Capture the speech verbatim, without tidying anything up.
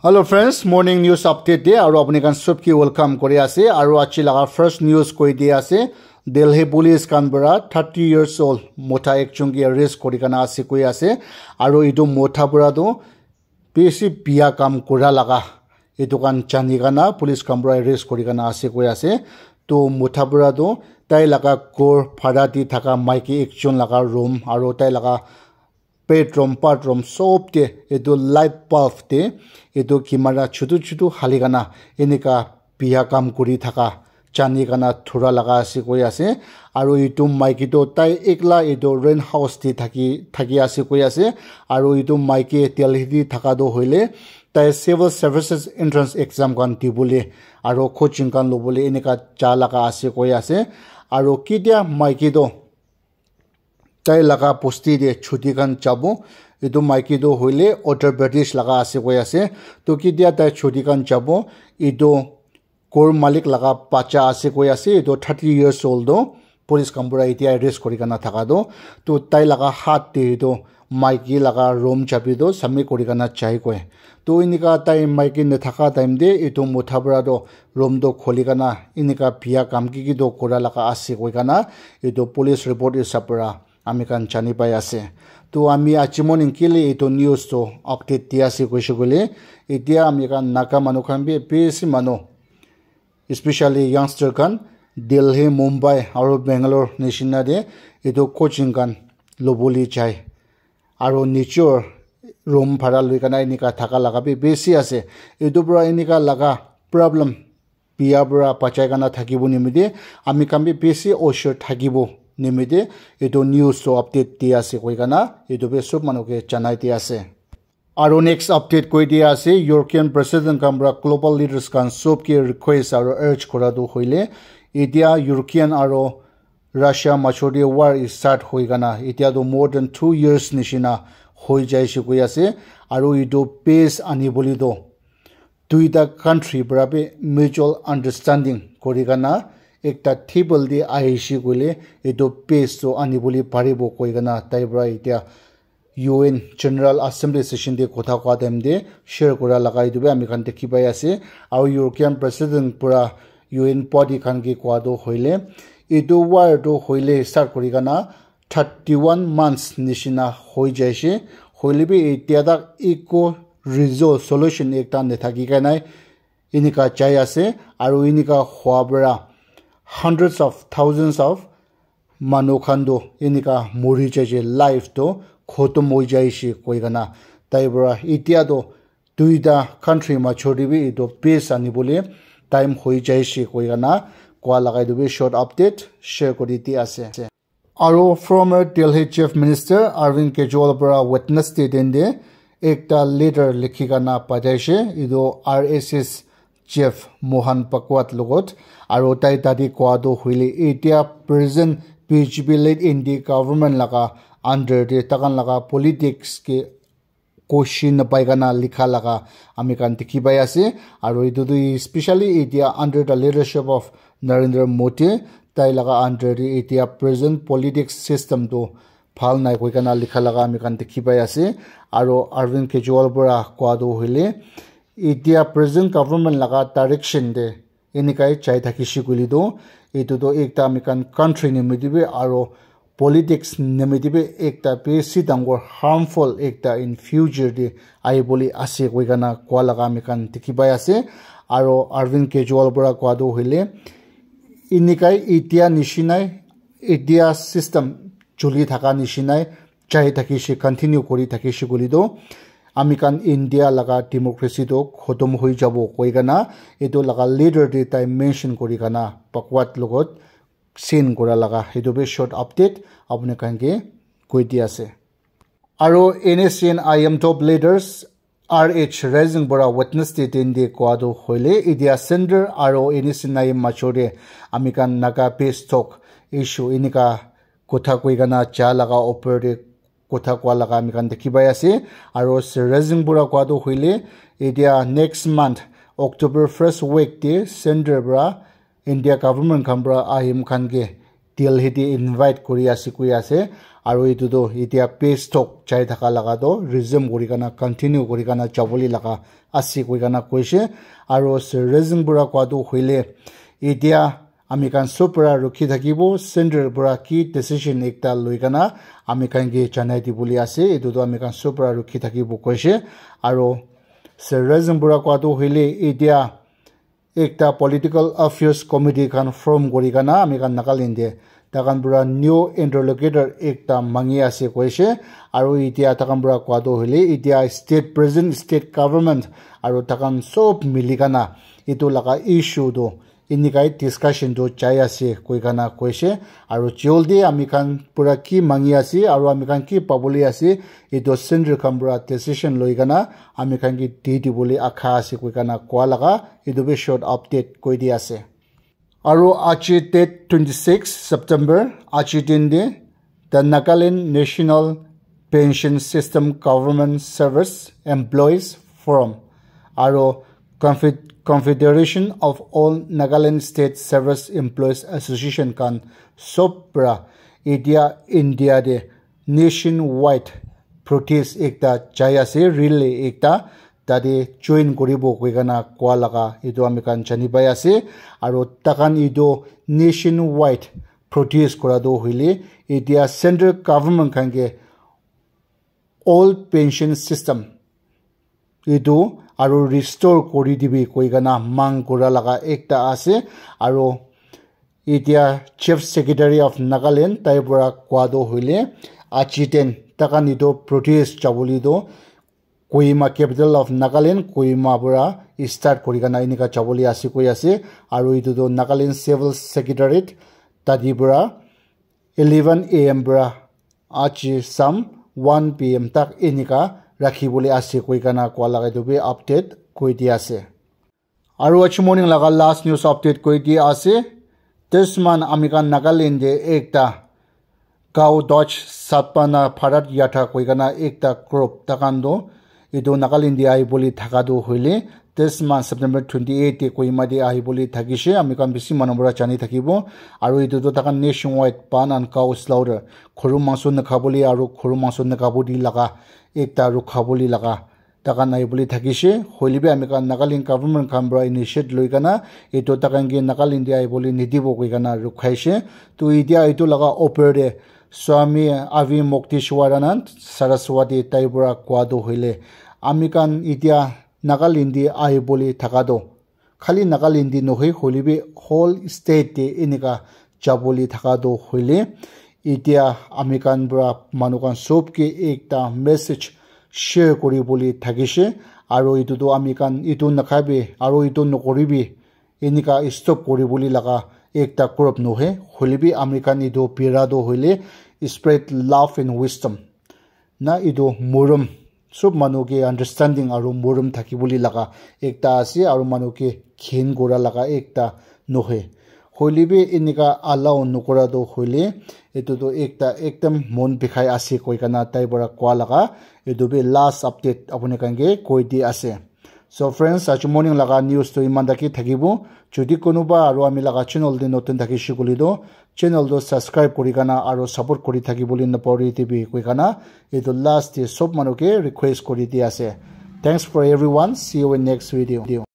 Hello friends, morning news update de aru apni khan sob ke welcome kuri ase. Aru aji laga first news koi di ase, Delhi police khan para thirty years old mota ekjon ke arrest kuri kana ase koi ase. Aru etu mota para tu bisi biya kam kura laga etu khan jani kana police khan para arrest kuri kana ase koi ase. To mota para tu tai laga ghor bhara di thaka maiki ekjon laga room aru tai laga bedroom, bathroom sob te etu light bulb te etu camera chutu chutu hali kana enika biya kam kuri thaka jani kana thura laga ase koi ase. Aru etu maiki tu tai ekla etu rent house te thaki thaki ase koi ase. Aru etu maiki Delhi te thaka tu hoile tai civil services entrance exam khan dibole aru coaching khan lobole enika ja laga ase koi ase. Aru ketia maiki tu tai laga bosti te chuti khan jabo. Etu maiki tu hoile Uttar Pradesh laga ase koi ase. To ketia tai chuti khan jabo, etu ghor malik laga bacha ase koi ase. Etu thirty years old tu police khan para etia arrest kuri kana thaka tu. To tai laga hath te etu maiki laga room chabi tu submit kuri kana jai koi. To enika tai maiki nathaka time te etu mota para tu room tu khuli kana enika biya kam ki ki tu kura laga ase koi kana etu police report hisab para ami khan jani pai ase. To ami aji morning kile etu news tu update di ase koise koile, etia ami khan Naga manu khan bi bisi manu, especially youngster khan Delhi, Mumbai aru Bangalore nishina te etu coaching khan lobole jai. Aru nijor room bhara loi kana enika thaka laga bi bisi ase. Etu para enika laga problem biya para bachai kana thakibo nimite ami khan bi bisi osor thakibo nimite etu news to update di ase koi kana etu bi sob manu ke janai di ase. Aru next update koi di ase, European president khan para global leaders khan sob ke request aru urge kura tu hoile, etia European aru Russia major te war is start hoi kana etia tu more than two years nishina hoi jaise koi ase. Aru etu peace ani bole tu duita country para bi mutual understanding kuri kana ekta table te ahishe koile etu peace tu ani bole paribo koi kana tai para etia U N General Assembly session te kotha koa time te share kura laga etu bi ami khan dikhi pai ase. Aru European President para U N body khan ke koa tu hoile etu war tu hoile start kuri kana thirty one months nishina hoi jaise. Hoile bi etia tak eku result solution ekta nathaki kai nai enika jai ase. Aru enika hua para hundreds of thousands of manu khan tu enika mori jaise, life tu khotom hoi jaise koi kana tai para etia tu duita country major te bi etu peace ani bole time hoi jaise koi kana koa laga etu bi short update share kuri di ase. Aru former Delhi Chief Minister Arvind Kejriwal para Wednesday din te ekta letter likhi kana pataise etu R S S Chief Mohan Bhagwat logot. Aru tai tate koa tu hoile etia present B J P led India government laga under te takan laga politics ke koshi napai kana likha laga ami khan dikhi pai ase. Aru etu tu especially etia under the leadership of Narendra Modi, tai laga under te etia present politics system tu bhal nai koi kana likha laga ami khan dikhi pai ase. Aru Arvind Kejriwal para koa tu hoile etia present government laga direction te enika jai thakishe koile tu etu tu ekta ami khan country nimite bi aru politics nimite bi ekta bisi dangor harmful ekta in future te ahi bole ase koi kana koa laga ami khan dikhi pai ase. Aru Arvind Kejriwal para koa tu hoile enika etia nishinai etia system chuli thaka nishinai jai thakishe continue kuri thakishe koile tu ami khan India laga democracy tu khotom hoi jabo koi kana etu laga letter te tai mention kuri kana Bhagwat logot sign kura laga etu bi short update apni khan ke koi di ase. Aru N S C N I M top leaders R H Rising para Wednesday din te koa tu hoile etia center aru N S C N I M major te ami khan Naga peace talk issue enika kotha koi kana ja laga upor te kotha koa laga ami khan dikhi pai ase. Aru Sir Rising para koa tu hoile etia next month October first week te center para India government khan para I M khan ke Delhi te invite kuri ase koi ase. Aru etu tu etia peace talk jai thaka laga tu resume kuri kana continue kuri kana jabole laga ase koi kana koise. Aru Sir Rezing para koa tu hoile etia ami khan sob para rukhi thakibo, center para ki decision ekta loi kana ami khan ke janai dibole ase, etu tu ami khan sob para rukhi thakibo koise. Aru Sir Rezing para koa tu hoile etia ekta political affairs committee khan form kuri kana ami khan Nagaland te takhan para new interlocutor ekta mangi ase koise. Aru etia takhan para koa tu hoile etia state president, state government aru takhan sob mili kana etu laga issue tu enika discussion tu jai ase koi kana koise. Aru jaldi ami khan para ki mangi ase aru ami khan ki pabole ase, etu center khan para decision loi kana ami khan ke di dibole akha ase koi kana koa laga etu bi short update koi di ase. Aru aji date twenty-six September, aji din te the Nagaland National Pension System Government Service Employees Forum aru Confe-, Confederation of All Nagaland State Service Employees Association khan sob para etia India te nationwide protest ekta jai ase, rally ekta tate join kuribo koi kana koa laga etu ami khan jani pai ase. Aru takhan etu nationwide protest kura tu hoile etia center government khan ke old pension system etu aru restore kuri dibi koi kana mang kura laga ekta ase. Aru etia Chief Secretary of Nagaland tai para koa tu hoile aji din takhan etu protest jabole tu Kohima, capital of Nagaland, Kohima para start kuri kana enika jabole ase koi ase. Aru etu tu Nagaland Civil Secretariat tate para eleven a m para aji sam one p m tak enika rakhi bole ase koi kana koa laga etu bi update koi di ase. Aru aji morning laga last news update koi di ase. This month ami khan Nagaland te ekta Cow Dodge Satpana Bharat Yatra koi kana ekta group takhan tu etu Nagaland te ahi bole thaka tu hoile this month September twenty eight te Kohima te ahi bole thakise. Ami khan bishi manu para jani thakibo. Aru etu tu takhan nationwide ban and cow slaughter, khuru mangso nakhabole aru khuru mangso nakhabole laga ekta rukhabole laga takhan ahi bole thakise. Hoile bi ami khan Nagaland government khan para initiate loi kana etu takhan ke Nagaland te ahi bole nidibo koi kana rukhaise. To etia etu laga upor te Swami Avi Mukteswaranand Saraswati tai para koa tu hoile ami khan etia Nagaland te ahi bole thaka tu khali Nagaland te nohoi hoile bi whole state te enika jabole thaka tu hoile etia ami khan para manu khan sob ke ekta message share kuri bole thakise. Aru etu tu ami khan etu nakhabi aru etu nokoribi enika stop kuri bole laga ekta group nohoi. Hoile bi ami khan etu bira tu hoile spread love and wisdom na etu morom sob manu ke understanding aru morom thaki bole laga ekta ase aru manu ke ghin kura laga ekta nohoi. Hoile bi enika allow nokura tu hoile etu tu ekta ekdam mon bikhai ase koi kana tai para koa laga etu bi last update apuni khan ke koi di ase. So friends, aji morning laga news tu iman taki thakibo. Jodi kunuba aru ami laga channel te notun thakise koile tu channel tu subscribe kuri kana aru support kuri thaki bole napahori dibi koi kana etu last te sob manu ke request kuri di ase. Thanks for everyone. See you in next video.